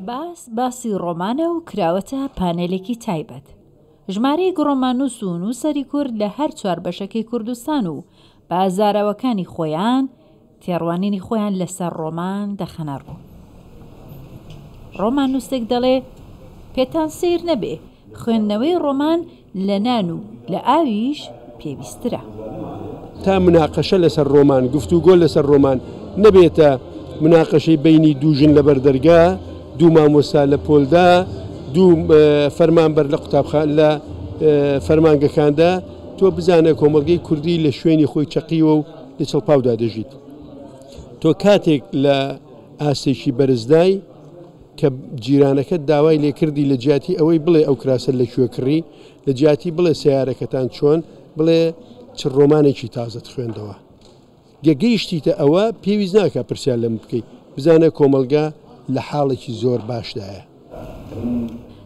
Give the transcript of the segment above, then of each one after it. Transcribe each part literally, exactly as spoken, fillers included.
باس باسی ڕۆمانە و کراوەتە پانێلێکی تایبەت. ژمارەیەک ڕۆماننووس و نووسەری کورد لە هەر چوار بەشەکەی کوردستان و بە زاراوەکانی خۆیان تێڕوانینی خۆیان لەسەر ڕۆمان دەخەنە ڕوو. ڕۆماننووسێک دەڵێ پێتان سەیر نەبێ خوێندنەوەی ڕۆمان لە نان و لە ئاویش پێویسترە. تا مناقەشە لەسەر ڕۆمان، گفتوگۆ لەسەر ڕۆمان نەبێتە مناقەشەی بینی دوو ژن لەبەر دەرگا، دوو مامۆستا لە پۆلدا، دوو فەرمانبەر لە قوتابخانە لە فەرمانگەکاندا، تۆ بزانە کۆمەڵگەی کوردی لە شوێنی خۆی چەقیوە و لە چڵپاودا دەژیت. تۆ کاتێک لە ئاستێکی بەرزدای کە جیرانەکەت داوای لێکردی لە جیاتی ئەوەی بڵێ ئەو کراسە لەکوێ کڕی، لە جیاتی بڵێ سیارەکەتان چۆن، بڵێ چ ڕۆمانێکی تازەت خوێندەوە. گەگەیشتیتە ئەوە پێویست ناکە پرسیار لەم بکەیت، بزانە کۆمەلگا لە حاڵێکی زۆر باشدایە.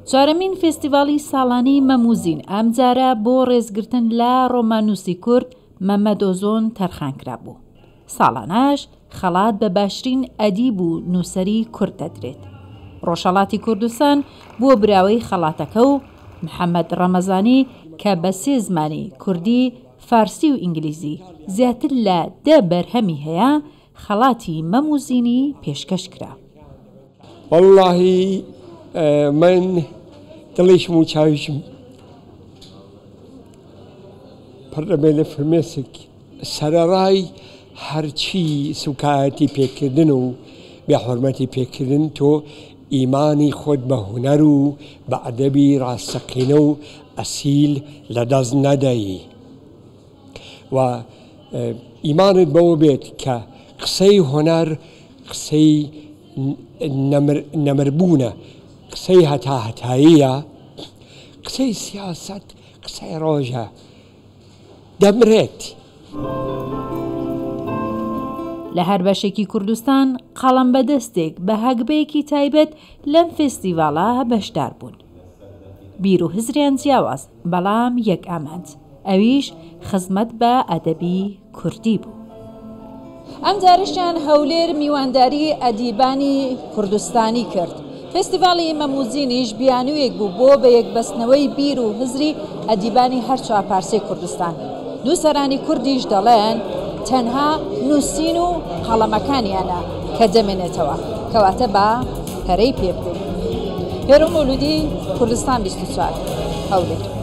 چوارەمین فێستیڤاڵی ساڵانی مەموزین ئەمجارە بۆ ڕێزگرتن لە ڕۆماننووسی کورد مەمەد ئۆزۆن تەرخان کرابوو. ساڵانەش خەڵات بە باشترین ئەدیب و نووسەری کورد دەدرێت. ڕۆژهەڵاتی کوردستان بووە براوەی خەڵاتەکە و محەممەد ڕەمەزانی کە بە سێ زمانی کوردی، فارسی و ئینگلیزی زیاتر لە دە بەرهەمی هەیە، خەڵاتی مەموزینی پێشکەش کرا. وەڵڵاهی من دڵیشم و چاویشم پڕ دەبێت لە فرمێسک. سەرەڕای هەرچی سوکایەتی پێکردن و بێحرمەتی پێکردن، تۆ ئیمانی خۆت بە هونەر و بە ئەدەبی ڕاستەقینە و ئەسیل لەدەست نەدەی و ئیمانت بەوە بێت کە قسەی هونەر قسەی نەمربوونە، قسەی هەتا هەتاییە، قسەی سیاسەت قسەی ڕۆژە دەمرێت. لە هەر بەشێکی کوردستان قەڵەم بەدەستێک بە هەگبەیەکی تایبەت لەم فێستیڤاڵە بەشدار بوون. بیر و هزریان جیاواز، بەڵام یەک ئامانج، ئەویش خزمەت بە ئەدەبی کوردی بوو. ئەم جارشیان هەولێر میوانداری ئەدیبانی کوردستانی کرد. فێستیڤاڵی مەموزینیش بیانوویەک بوو بۆ بە یەکبەستنەوەی بیر و هزری ئەدیبانی هەر چوار پارچەی کوردستان. نووسەرانی کوردیش دەڵێن تەنها نووسین و قەڵەمەکانیانە کە دەمێنێتەوە، کەواتە بە پەرەی پێ بدەین. هێرۆ مەولودی، کوردستان بیست و چوار، هەولێر.